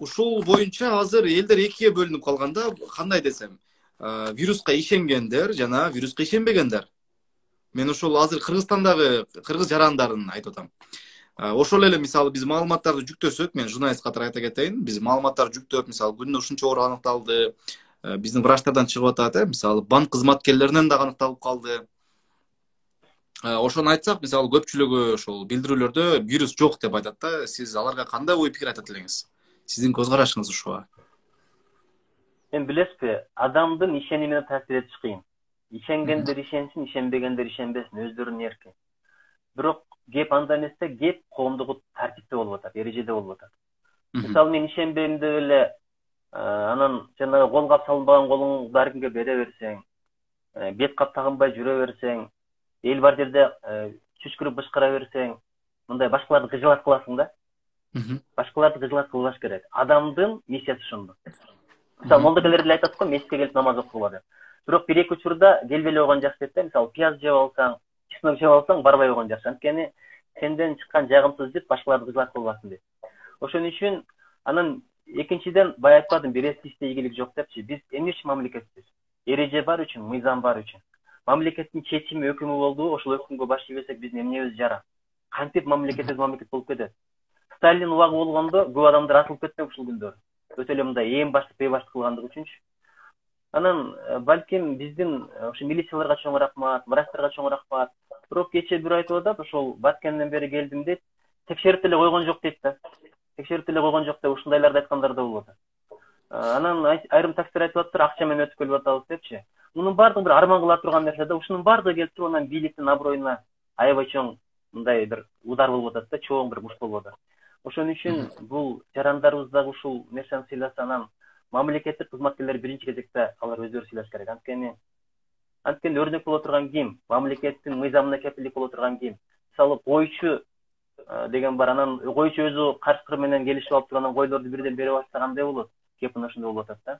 ушул боюнча азыр элдер экиге бөлүнүп калганда, кандай десем, вируска ишенгендер жана вируска ишенбегендер. Мен ушул азыр Кыргызстандагы кыргыз жарандарын айтып атам. Ошол эле мисалы биз маалыматтарды жүктөсөк, мен журналист катары айта кетейин, биз маалыматтарды жүктөп, мисалы күнүнө ушунча оору аныкталды, биздин врачтардан чыгып атат, мисалы банк кызматкерлеринен дагы аныкталып калды. Ошону айтсак, мисалы көпчүлүгү ошол билдирүүлөрдө вирус жок деп айтат да. Сиз аларга кандай ой пикир айтат элеңиз? Сиздин көз карашыңыз ушуга? Эми билесизби, адамдын ишенимине таасир этиш кыйын. Ишенгендер ишенсин, ишенбегендер ишенбесин, өздөрүнүн эрки. Бирок кеп анда эмесе, кеп коомдук тартипте болуп атат, эрежеде болуп атат. Мисалы мен ишенбейм деп эле анан жанагы кол кап салынбаган колуңду ар кимге бере берсең, бет кап тагынбай жүрө берсең, эл бар жерде чүчкүрүп бышкыра берсең, мындай башкаларды кыжылат кыласың да. Башкаларды кыжылат кылбаш керек. Адамдын миссиясы ошондо. Мисалы молдокелер деле айтат го, мечитке келип намаз окугула деп. Бирок бир эки учурда келбей койгон жакшы дейт да. Мисалы пияз жеп алсаң, чеснок жеп алсаң, барбай койгон жакшы. Анткени сенден чыккан жагымсыз жыт башкаларды кыжылат кылбасын дейт. Ошон үчүн анан экинчиден бай айтпадым, бересизде ийгилик жок депчи. Биз эмне үчүн мамлекетпиз? Эреже бар үчүн, мыйзам бар үчүн. Мамлекеттин чечими, өкүмү болду, ошол өкүмгө баш ийбесек биздин эмнебиз жара? Кантип мамлекет болуп кетет? Сталин убагы болгондо көп адамдар атылып кеткен ушул күндөр. Өтө эле мындай эң баштык бейбаштык кылгандыгы үчүнчү. Анан балким биздин ошо милицияларга чоң рахмат, врачтарга чоң рахмат. Бирок кечээ бир айтып атат, ошол Баткенден бери келдим дейт, текшерип деле койгон жок дейт да. Текшерип деле койгон жок деп ушундайларды айткандар да болуп атат. Анан айрым таксилер айтып атыптыр, акча менен өтүп келип атабыз депчи. Мунун баардыгы бир арман кыла турган нерсе да. Ушунун баардыгы келип туруп анан бийликтин аброюна аябай чоң мындай бир удар болуп атат да, чоң бир муш болуп атат. Ошон үчүн бул жарандарыбыз дагы ушул нерсени сыйласа, анан мамлекеттик кызматкерлер биринчи кезекте алар өздөрү сыйлаш керек. Анткени өрнөк боло турган ким? Мамлекеттин мыйзамына кепилдик боло турган ким? Мисалы койчу деген бар, анан койчу өзү карчкыр менен келишип алып турган койлорду бирден берип атса кандай болот? Кеп мына ошондой болуп атат да.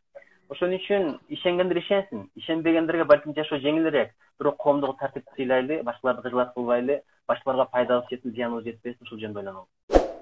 Ошон үчүн ишенгендер ишенсин, ишенбегендерге балким жашоо жеңилирээк. Бирок коомдук тартипти сыйлайлы, башкаларды кыжылат кылбайлы, башкаларга пайдабыз жетsin, зыяныбыз жетпесин, ушул жөнүндө ойлонобуз.